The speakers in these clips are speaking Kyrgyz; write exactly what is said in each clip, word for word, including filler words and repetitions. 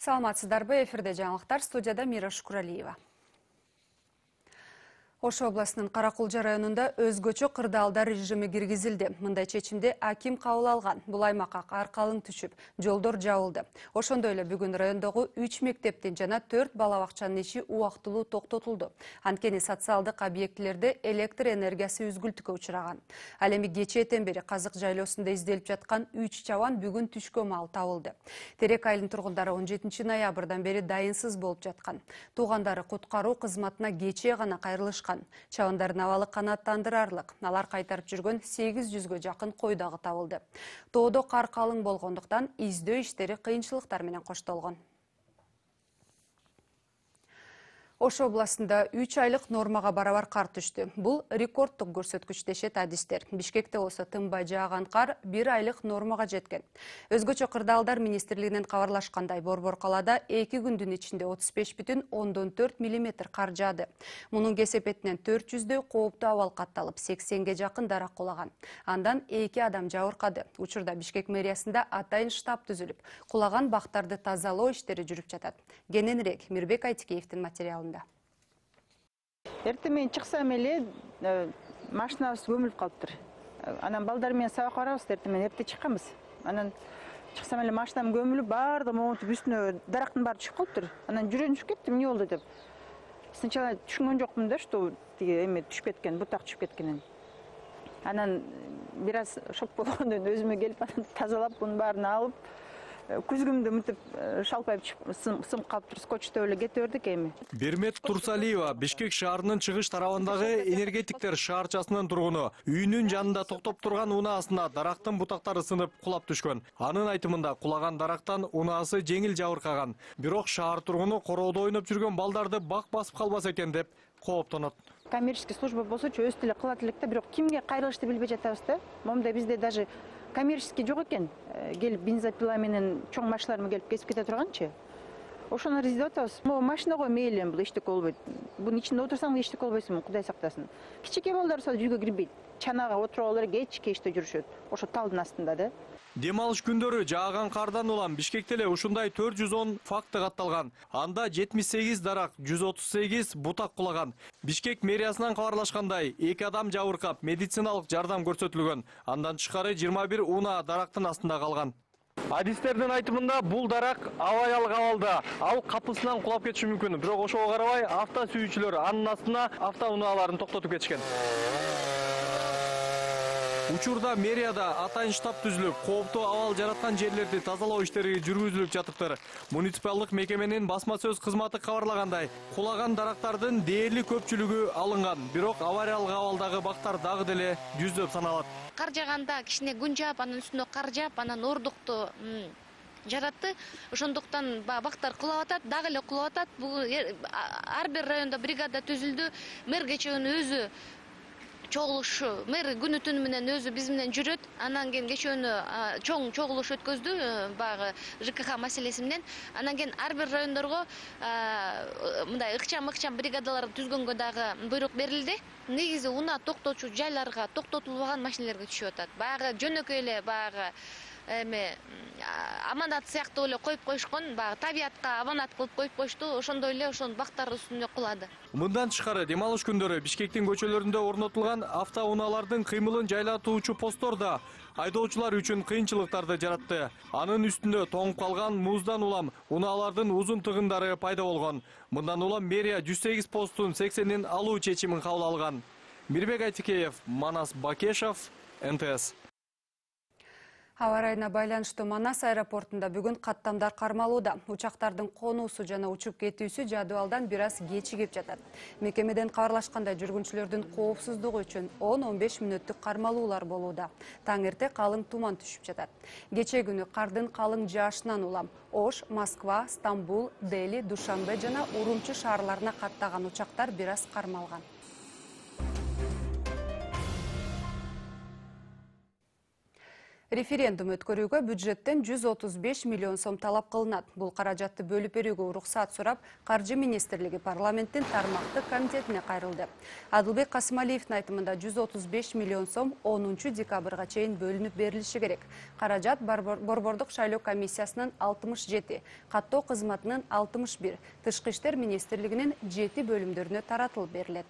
Саламатсыздарбы, эфирде жаңылыктар, студияда Мира Шукуралиева. Ош областынын Каракулжа районунда өзгөчө кырдаалдар режими киргизилди. Мындай чечимди аким кабыл алган. Бул аймакка кар калың түшүп, жолдор жабылды. Ошондой эле бүгүн райондогу үч мектептин жана төрт бала бакчанын иши убактылуу токтотулду. Анткени социалдык объектилерде электр энергиясы үзгүлтүккө учураган. Ал эми кечээден бери казык жайлоосунда изделип жаткан үч чабан бүгүн түшкө маал табылды. Терек айылынын тургундары он жетинчи ноябрдан бери дайынсыз болуп жаткан. Туугандары куткаруу кызматына кечээ гана кайрылышкан. Чабандардын абалы канааттандырарлык. Алар кайтарып жүргөн сегиз жүзгө жакын кой дагы табылды. Тоодо кар калың болгондуктан издөө иштери кыйынчылыктар менен коштолгон. Ош областында үч айлык нормага барабар кар түштү. Бул рекордтук көрсөткүч дешет адистер. Бишкекте болсо тынбай жааган кар бир айлык нормага жеткен. Өзгөчө кырдаалдар министрлигинен кабарлашкандай, Борбор калаада эки күндүн ичинде отуз беш бүтүн ондон төрт миллиметр кар жаады. Мунун кесепетинен төрт жүздөй кооптуу абал катталып, сексенге жакын дарак кулаган. Андан эки адам жабыркады. Учурда Бишкек мэриясында атайын штаб түзүлүп, кулаган бактарды тазалоо иштери жүрүп жатат. Кененирээк Мирбек Айтикеевдин материалында. Эртең мен чыксам эле машинабыз көмүлүп калыптыр. Анан балдар менен сабак барабыз, эртең менен эрте чыкканбыз. Анан чыксам эле машинам көмүлүп, баардыгы монтип үстүнө дарактын баары түшүп калыптыр. Анан жүрөгүм түшүп кетти, эмне болду деп. Сначала түшүнгөн жокмун да, что тиги эме түшүп кеткен, бутак түшүп кеткенин. Анан бир аз шок болгондон өзүмө келип, анан тазалап, бунун баарын алып, күзгүмдү мынтип шалпайып сымып калыптыр, скотчтой эле кете бердик эми. Бермет Турсалиева Бишкек шаарынын чыгыш тарабындагы энергетиктер шаарчасынын тургуну. Үйүнүн жанында токтоп турган унаасына дарактын бутактары сынып кулап түшкөн. Анын айтымында кулаган дарактан унаасы жеңил жабыркаган. Бирок шаар тургуну короодо ойноп жүргөн балдарды бак басып калбаса экен деп кооптонот. Коммерческий служба болсочу өз деле кылат элек да, бирок кимге кайрылышты билбей жатабыз да. Момунда бизде даже коммерческий жок экен. Келип бензопила менен чоң машиналар менен келип кесип кете турганчы. Ошону издеп атабыз. Могу машинага мейли бул эчтеке болбойт. Бунун ичинде отурсаң эчтеке болбойсуң, Кудай сактасын. Кичике балдар болсо үйгө кирбейт. Чанага отуруп алып эле кечке иште жүрүшөт. Ошо талдын астында да. Дем алыш күндөрү жааган кардан улам Бишкекте эле ушундай төрт жүз он факты катталган. Анда жетимиш сегиз дарак, жүз отуз сегиз бутак кулаган. Бишкек мэриясынан кабарлашкандай, эки адам жабыркап, медициналык жардам көрсөтүлгөн. Андан тышкары жыйырма бир унаа дарактын астында калган. Адистердин айтымында бул дарак авариялык абалда, ал капысынан кулап кетиши мүмкүн. Бирок ошого карабай авто сүйүүчүлөр анын астына автоунааларын токтотуп кетишкен. Учурда мэрияда атайын штаб түзүлүп, кооптуу абал жараткан жерлерди тазалоо иштери жүргүзүлүп жатыптыр. Муниципалдык мекеменин басма сөз кызматы кабарлагандай, кулаган дарактардын дээрлик көпчүлүгү алынган, бирок авариялык абалдагы бактар дагы деле жүздөп саналат. Кар жааганда кичине күн жаап, анан үстүнө кар жаап, анан ордукту жаратты. Ошондуктан бактар кулап атат, дагы эле кулап атат. Бул ар бир райондо бригада түзүлдү. Мэр кечөөнү өзү чогулуш, мэр күнү түнү менен өзү биз менен жүрөт. Анан кийин кечөөнү чоң чогулуш өткөздү баягы ЖКХ маселеси менен. Анан кийин ар бир райондорго мындай ыкчам-ыкчам бригадалар түзгөнгө дагы буйрук берилди. Негизи унаа токтотчу жайларга токтотулбаган машиналерге түшүп атат. Баягы жөнөкөй эле баягы эме аманат сыяктуу эле коюп коюшкон, баягы табиятка аманат кылып коюп коюшту. Ошондой эле ошонун бактары үстүнө кулады. Мындан тышкары дем алыш күндөрү Бишкектин көчөлөрүндө орнотулган автоунаалардын кыймылын жайлатуучу посттор да айдоочулар үчүн кыйынчылыктарды жаратты. Анын үстүндө тоңуп калган муздан улам унаалардын узун тыгындары пайда болгон. Мындан улам мэрия жүз сегиз посттун сексенин алуу чечимин кабыл алган. Мирбек Айтикеев, Манас Бакешов, эн тэ эс. Аба ырайына байланыштуу Манас аэропортунда бүгүн каттамдар кармалууда. Учактардын конуусу жана учуп кетүүсү жадыбалдан бир аз кечигип жатат. Мекемеден кабарлашкандай, жүргүнчүлөрдүн коопсуздугу үчүн он он беш мүнөттүк кармалуулар болууда. Таң эрте калың туман түшүп жатат. Кечээ күнү кардын калың жаашынан улам Ош, Москва, Стамбул, Дели, Душанбе жана Урумчи шаарларына каттаган учактар бир аз кармалган. Референдум өткөрүүгө бюджеттен жүз отуз беш миллион сом талап кылынат. Бул каражатты бөлүп берүүгө уруксат сурап, Каржы министрлиги парламенттин тармактык комитетине кайрылды. Адылбек Касымалиевдин айтымында жүз отуз беш миллион сом онунчу декабрга чейин бөлүнүп берилиши керек. Каражат Борбордук шайлоо комиссиясынын алтымыш жети, каттоо кызматынын алтымыш бир, Тышкы иштер министрлигинин жети бөлүмдөрүнө таратылып берилет.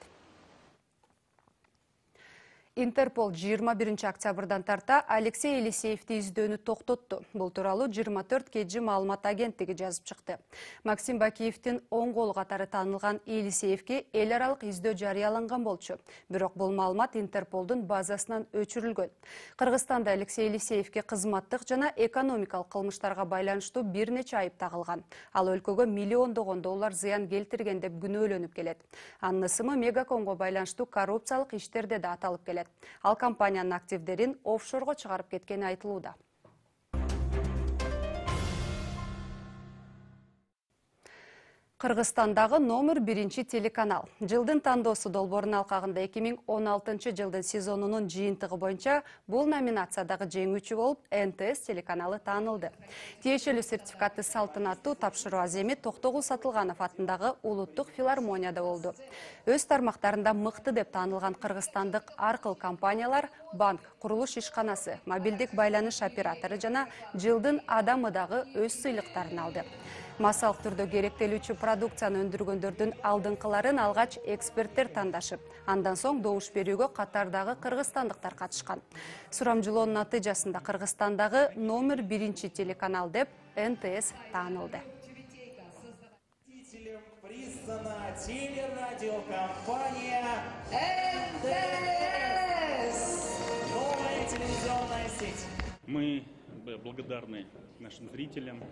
Интерпол жыйырма биринчи октябрдан тарта Алексей Елисеевди издөөнү токтотту. Бул тууралуу жыйырма төрт кей жи маалымат агенттиги жазып чыкты. Максим Бакиевдин оң колу катары таанылган Елисеевге эл аралык издөө жарыяланган болчу. Бирок бул маалымат Интерполдун базасынан өчүрүлгөн. Кыргызстанда Алексей Елисеевге кызматтык жана экономикалык кылмыштарга байланыштуу бир нече айып тагылган. Ал өлкөгө миллиондогон доллар зыян келтирген деп күнөөлөнүп келет. Анын ысымы Мегакомго байланыштуу коррупциялык иштерде да аталып келет. Ал компаниянын активдерин офшорго чыгарып кеткени айтылууда. Кыргызстандагы номер биринчи телеканал. Жылдын тандоосу долбоорунун алкагында эки миң он алтынчы жылдын сезонунун жыйынтыгы боюнча бул номинациядагы жеңүүчү болуп эн тэ эс телеканалы таанылды. Тиешелүү сертификатты салтанаттуу тапшыруу аземи Токтогул Сатылганов атындагы Улуттук филармонияда болду. Өз тармактарында мыкты деп таанылган кыргызстандык аркыл компаниялар банк, курулуш ишканасы, мобилдик байланыш оператору жана жылдын адамы дагы өз сыйлыктарын алды. Массалык түрдө керектелүүчү продукцияны өндүргөндөрдүн алдыңкыларын алгач эксперттер тандашып, андан соң добуш берүүгө катардагы кыргызстандыктар катышкан. Сурамжылоонун натыйжасында Кыргызстандагы номер биринчи телеканал деп эн тэ эс таанылды. Признана телерадиокомпания эн тэ эс. Новая телевизионная сеть. Мы благодарны нашим зрителям.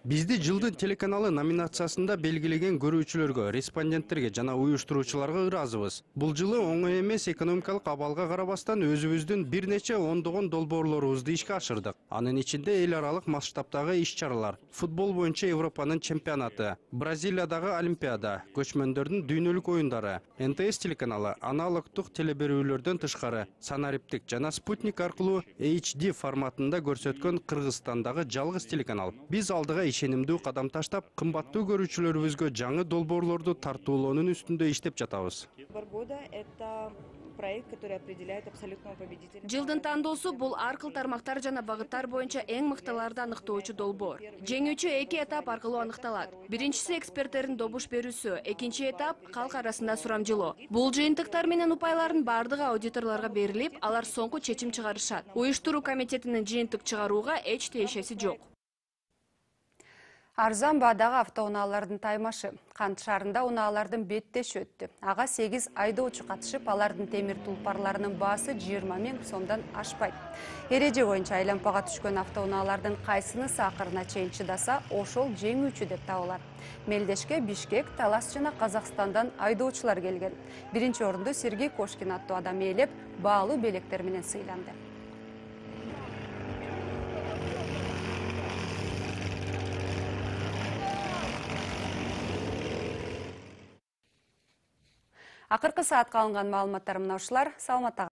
Бизди жылдын телеканалы номинациясында белгилеген көрүүчүлөргө, респонденттерге жана уюштуруучуларга ыраазыбыз. Бул жылы оңой эмес экономикалык абалга карабастан өзүбүздүн бир нече ондогон долбоорлорубузду ишке ашырдык. Анын ичинде эл аралык масштабтагы иш-чаралар, футбол боюнча Европанын чемпионаты, Бразилиядагы Олимпиада, көчмөндөрдүн дүйнөлүк оюндары, эн тэ эс телеканалы аналогдук телеберүүлөрдөн тышкары санариптик жана спутник аркылуу эйч ди форматында көрсөткөн Кыргызстандагы жалгыз телеканал. Биз алдыга ишенимдүү кадам таштап, кымбаттуу көрүүчүлөрүбүзгө жаңы долбоорлорду тартуулоонун үстүндө иштеп жатабыз. Жылдын тандоосу бул аркыл тармактар жана багыттар боюнча эң мыктыларды аныктоочу долбоор. Жеңүүчү эки этап аркылуу аныкталат. Биринчиси эксперттердин добуш берүүсү, экинчи этап калк арасында сурамжылоо. Бул жыйынтыктар менен упайлардын бардыгы аудиторлорго берилип, алар соңку чечим чыгарышат. Уюштуруу комитетинин жыйынтык чыгарууга эч тиешеси жок. Арзан баадагы автоунаалардын таймашы. Кант шаарында унаалардын беттеши өттү. Ага сегиз айдоочу катышып, алардын темир тулпарларынын баасы жыйырма миң сомдон ашпайт. Эреже боюнча айланпага түшкөн автоунаалардын кайсынысы акырына чейин чыдаса, ошол жеңүүчү деп табылат. Мелдешке Бишкек, Талас жана Казакстандан айдоочулар келген. Биринчи орунду Сергей Кошкин аттуу адам ээлеп, баалуу белектер менен сыйланды. Акыркы саатка алынган маалыматтар мына ушулар. Саламатта